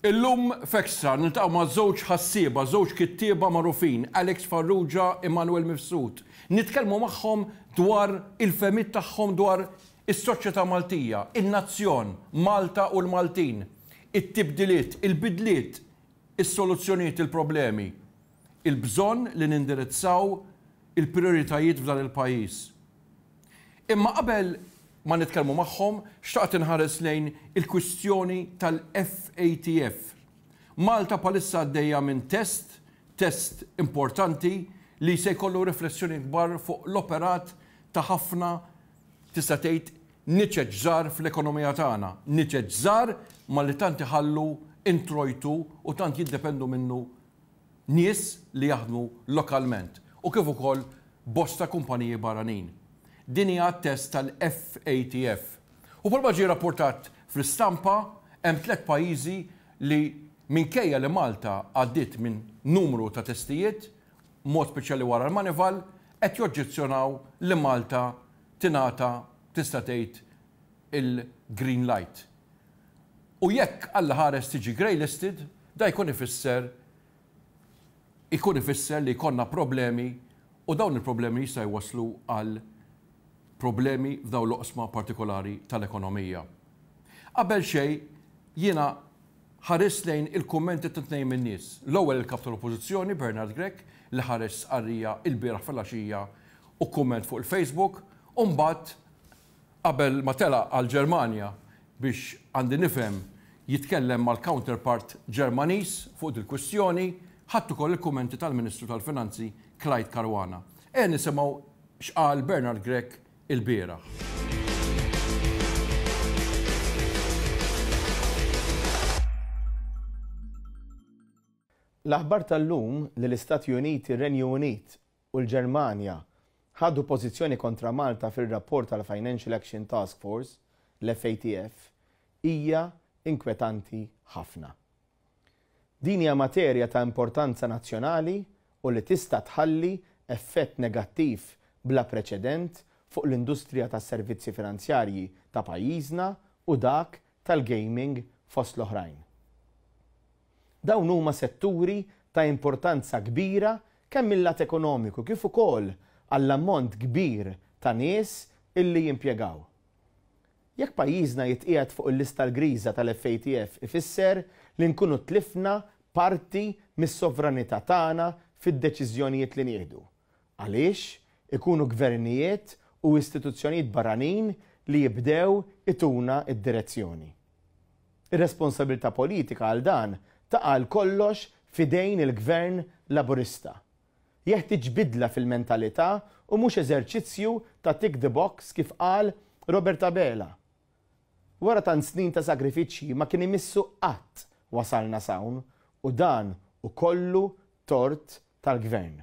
Illum f'Extra niltaqgħu ma' żewġ ħassieba, żewġ kittieba magħrufin, Alex Farrugia, Immanuel Mifsud. Nitkellmu magħhom dwar il-fehmiet tagħhom dwar is-soċjetà Maltija, in-nazzjon, Malta u l-Maltin, it-tibdiliet, il-bidliet, is-soluzzjonijiet, il-problemi, il-bżonn li nindirizzaw il-prijoritajiet f'dan il-pajjiż. Imma qabel ma nitkellmu magħhom, xtaqt inħares lejn il-kwistjoni tal-FATF. Malta bħalissa għaddejja minn test, test importanti li se jkollu riflessjonijiet kbar fuq l-operat ta' ħafna, tista' tgħid, niċeċ żgħar fl-ekonomija tagħna. Niċeċ żgħar ma li tant iħallu introjtu u tant jiddependu minnu nies li jaħdmu lokalment u kif ukoll bosta kumpaniji barranin. Din hija t-test tal-FATF. U bħalma ġie rappurtat fl-istampa, hemm tlett pajjiżi li minkejja li Malta għaddiet minn numru ta' testijiet, mod speċjali wara l-Manival, qed joġġezzjonaw li Malta tingħata tista' tgħid il-green light. U jekk Alla ħares tiġi grey listed, da jkun ifisser ikun ifisser li jkollna problemi u dawn il-problemi jista' jwasslu għal problemi f'dawn l-oqsma partikolari tal-ekonomija. Qabel xejn jiena ħarist lejn il-kummenti ta' tnejn min-nies. L-ewwel il-Kap tal-Oppożizzjoni Bernard Grech li ħareġ stqarrija ilbieraħ filgħaxija u kumment fuq il-Facebook u mbagħad Qabel ma telaq għall-Ġermanja biex, għandi nifhem, jitkellem mal-counterpart Ġermaniż fuq dil-kwistjoni, ħadt ukoll il-kummenti tal-Ministru tal-Finanzi Clyde Caruana. Ejja nisimgħu x'qal Bernard Grech ilbieraħ. L-aħbar tal-lum li l-Istati Uniti, ir-Renju Unit u l-Ġermanja ħadu pożizzjoni kontra Malta fir-rapport tal-Financial Action Task Force, l-FATF, hija inkwetanti ħafna. Din hija materja ta' importanza nazzjonali u li tista' tħalli effett negattiv bla preċedent fuq l-industrija tas-servizzi finanzjarji ta' pajjiżna u dak tal-gaming fost l-oħrajn. Dawn huma setturi ta' importanza kbira kemm mil-lat ekonomiku kif ukoll għall-ammont kbir ta' nies illi jimpjegaw. Jekk pajjiżna jitqiegħed fuq il-lista l-griża tal-FATF ifisser li nkunu tlifna parti mis-sovranità tagħna fid-deċiżjonijiet li nieħdu. Għaliex ikunu gvernijiet u istituzzjonijiet barranin li jibdew ituna d-direzzjoni. Ir-responsabilità politika għal dan taqa' għal kollox f'idejn il-Gvern Laburista. Jeħtieġ bidla fil-mentalità u mhux eżerċizzju ta' tick the box kif qal Robert Abela. Wara tant snin ta' sagrifiċċji ma kien imissu qatt wasalna s'hawn u dan hu kollu tort tal-Gvern.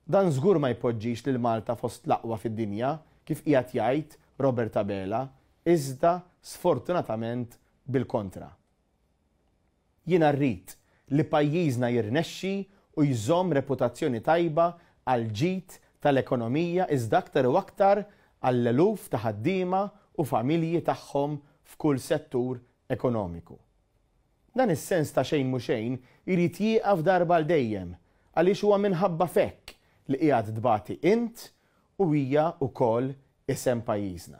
Dan żgur ma jpoġġix lil Malta fost l-aqwa fid-dinja, kif qiegħed jgħid Robert Abela, iżda sfortunatament bil-kontra. Jiena rrid li pajjiżna jirnexxi u jżomm reputazzjoni tajba għall-ġid tal-ekonomija iżda aktar u aktar għall-eluf ta' ħaddiema u familji tagħhom f'kull settur ekonomiku. Dan is-sens ta' xejn mhu xejn irid jieqaf darba għal dejjem għaliex huwa minħabba f'hekk li qiegħed tbati int u hija wkoll isem pajjiżna.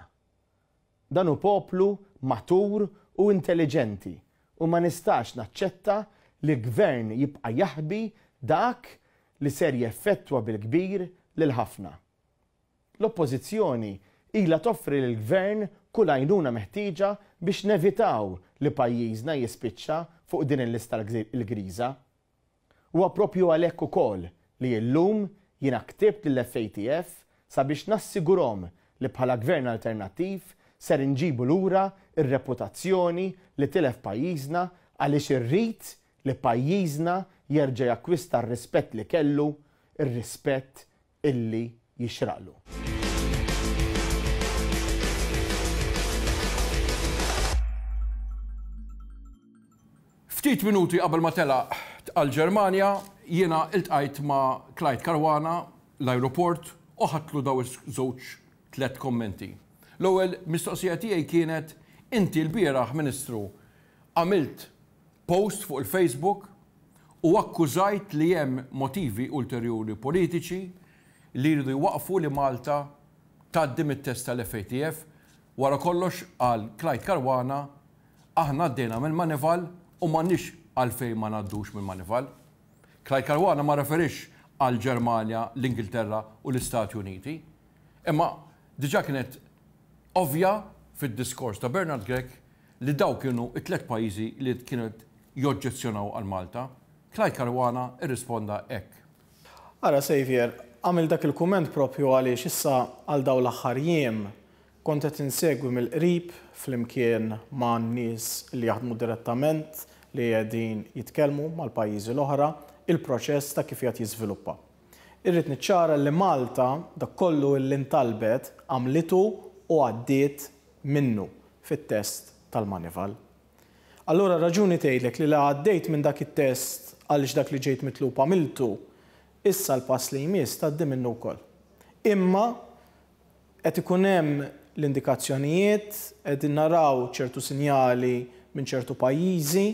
Dan hu poplu matur u intelliġenti u ma nistax naċċetta li gvern jibqa' jaħbi dak li ser jeffettwa bil-kbir lil ħafna. L-Oppożizzjoni ilha toffri lill-Gvern kull għajnuna meħtieġa biex nevitaw li pajjiżna jispiċċa fuq din il-lista l-griża. Huwa proprju għalhekk ukoll li illum jiena ktibt lill-FATF sabiex nassigurhom li bħala Gvern alternattiv ser inġibu lura r-reputazzjoni li tilef pajjiżna għaliex irrid li pajjiżna jerġa' jakkwista r-rispett li kellu, ir-rispett illi jixraqlu. Ftit minuti qabel ma telaq għall-Ġermanja, jiena iltqajt ma' Clyde Caruana l-ajruport u ħadtlu daw iż-żewġ tlett kommenti. L-ewwel mistoqsija tiegħi kienet, inti lbieraħ, Ministru, għamilt. post fuq il-Facebook u akkużajt li hemm motivi ulterjuri politiċi li jridu jwaqqfu li Malta tgħaddi mit-test tal-FATF. Wara kollox, qal Clyde Caruana, aħna għaddejna mill-Manival u m'għandniex għalfejn ma ngħaddux mill-Manival. Clyde Caruana ma rreferiex għall-Ġermanja, l-Ingilterra u l-Istati Uniti. Imma diġà kienet ovvja fid-diskors ta' Bernard Grech li dawk kienu t-tlett pajjiżi li kienu qed joġġezzjonaw għal Malta. Clyde Caruana rrisponda hekk. Ara Saviour, għamilt dak il-kumment propju għaliex issa għal dawn l-aħħar jiem kont qed insegwi mill-qrib flimkien ma' nies li jaħdmu direttament li qegħdin jitkellmu mal-pajjiżi l-oħra il-proċess ta' kif qiegħed jiżviluppa. Irrid niċċara li Malta dak kollu illi ntalbet għamlitu u għaddiet minnu fit-test tal-Manival. Allura r-raġuni tgħidlek li la għaddejt minn dak it-test għaliex dak li ġejt mitlub għamiltu, issa l-pass li jmiss tgħaddi minnu wkoll. Imma qed ikun hemm l-indikazzjonijiet, qegħdin naraw ċertu sinjali minn ċertu pajjiżi,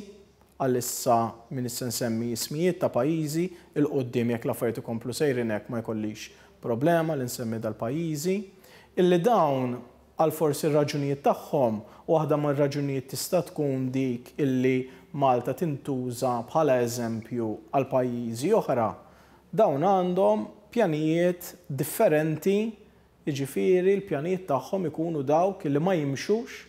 għalissa m'iniex se nsemmi ismijiet ta' pajjiżi, 'il quddiem jekk l-affarijiet ikomplu sejrin hekk ma jkollix problema li nsemmi dal-pajjiżi, illi dawn għal forsi r-raġunijiet tagħhom, u waħda mir-raġunijiet tista' tkun dik illi Malta tintuża bħala eżempju għal pajjiżi oħra, dawn għandhom pjanijiet differenti, jiġifieri l-pjanijiet tagħhom ikunu dawk illi ma jimxux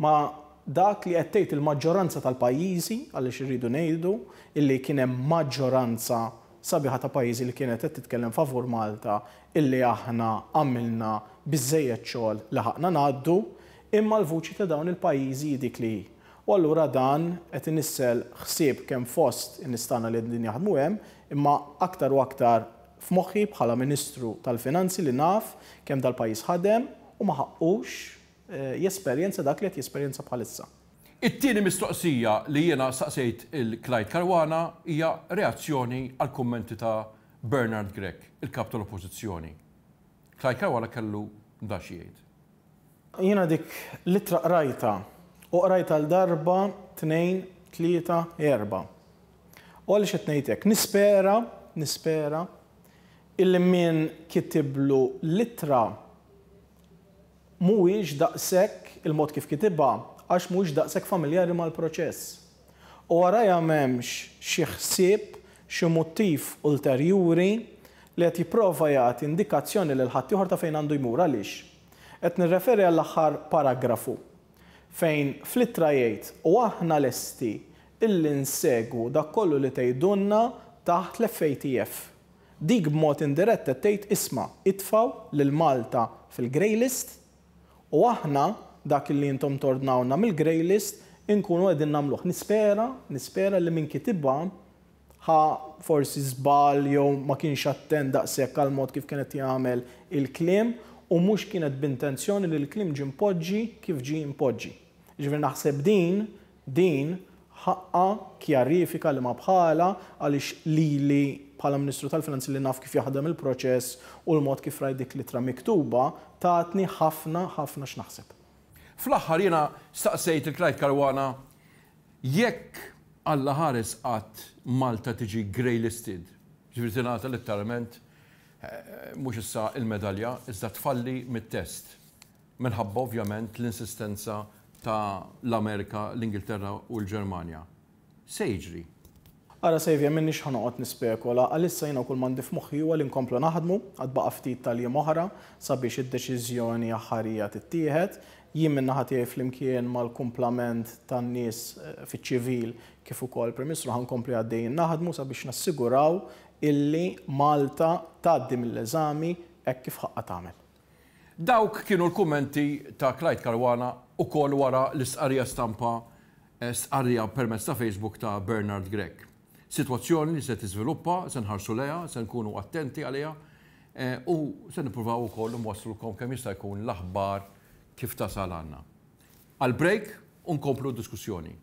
ma' dak li qed tgħid il-maġġoranza tal-pajjiżi, għaliex irridu ngħidu illi kien hemm maġġoranza sabiħa ta' pajjiżi li kienet qed titkellem favur Malta illi aħna għamilna biżżejjed xogħol li ħaqqna ngħaddu, imma l-vuċi ta' dawn il-pajjiżi hi dik li hi. U allura dan qed inissel ħsieb kemm fost in-nies tagħna li qegħdin jaħdmu hemm, imma aktar u aktar f'moħħi bħala Ministru tal-Finanzi li naf kemm dal-pajjiż ħadem u ma ħaqqux jesperjenza dak li qed jesperjenza bħalissa. It-tieni mistoqsija li jiena staqsejt 'il Clyde Caruana hija reazzjoni għall-kummenti ta' Bernard Grech, il-Kap tal-Oppożizzjoni. Clyde Caruana kellu dan xi jgħid. Jiena dik l-ittra qrajtha, u qrajtha għal darba, tnejn, tlieta, erbgħa. U għaliex qed ngħid hekk? Nispera, nispera, illi min kitiblu l-ittra mhuwiex daqshekk, il-mod kif kitibha, għax mhuwiex daqshekk familjari mal-proċess. U warajha m'hemmx xi ħsieb, xi mottiv ulterjuri li qed jipprova jagħti indikazzjoni lil ħaddieħor ta' fejn għandu jmur. Għaliex? Qed nirreferi għall-aħħar paragrafu fejn fl-ittra jgħid u aħna lesti illi nsegwu dak kollu li tgħidulna taħt l-FATF. Dik b'mod indirett qed tgħid isma' itfgħu lil Malta fil-grey list u aħna dak li intom tordnawlna mill-grey list inkunu qegħdin nagħmluh. Nispera, nispera li min kitibha ħa forsi żball jew ma kienx attent daqshekk għall-mod kif kien qed jagħmel il-kliem u mhux kienet b'intenzjoni li l-kliem ġie mpoġġi kif ġie mpoġġi. Jiġifieri naħseb din Din ħaqqha kjarifika li ma bħalha għaliex lili bħala Ministru tal-Finanzi li naf kif jaħdem il-proċess u l-mod kif rajt dik l-ittra miktuba tatni ħafna ħafna x'naħseb. Fl-aħħar jiena staqsejt lil Clyde Caruana jekk Alla ħares qatt Malta tiġi grey listed, jiġifieri tingħata letteralment mhux issa l-medalja iżda tfalli mit-test. Minħabba ovvjament l-insistenza ta' l-Amerika, l-Ingilterra u l-Ġermanja. Se jiġri? Ara Saviour, m'iniex ħa noqgħod nispekula, għalissa jiena kull m'għandi f'moħħi huwa li nkomplu naħdmu, għad baqa' ftit tal-jiem oħra sabiex id-deċiżjoni aħħarija tittieħed. Jien min-naħa tiegħi flimkien mal-kumplament tan-nies fiċ-ċivil kif ukoll il-Prim Ministru ħa nkompli għaddejjin naħdmu sabiex nassiguraw illi Malta tgħaddi mill-eżami hekk kif ħaqqha tagħmel. Dawk kienu l-kummenti ta' Clyde Caruana ukoll wara l-istqarrija stampa stqarrija permezz ta' Facebook ta' Bernard Grech. Sitwazzjoni li se tiżviluppa, se nħarsu lejha, se nkunu attenti għaliha u se nippruvaw ukoll nwasslulkom kemm jista' jkun l-aħbar kif tasal għandna. Għal break u nkomplu d-diskussjoni.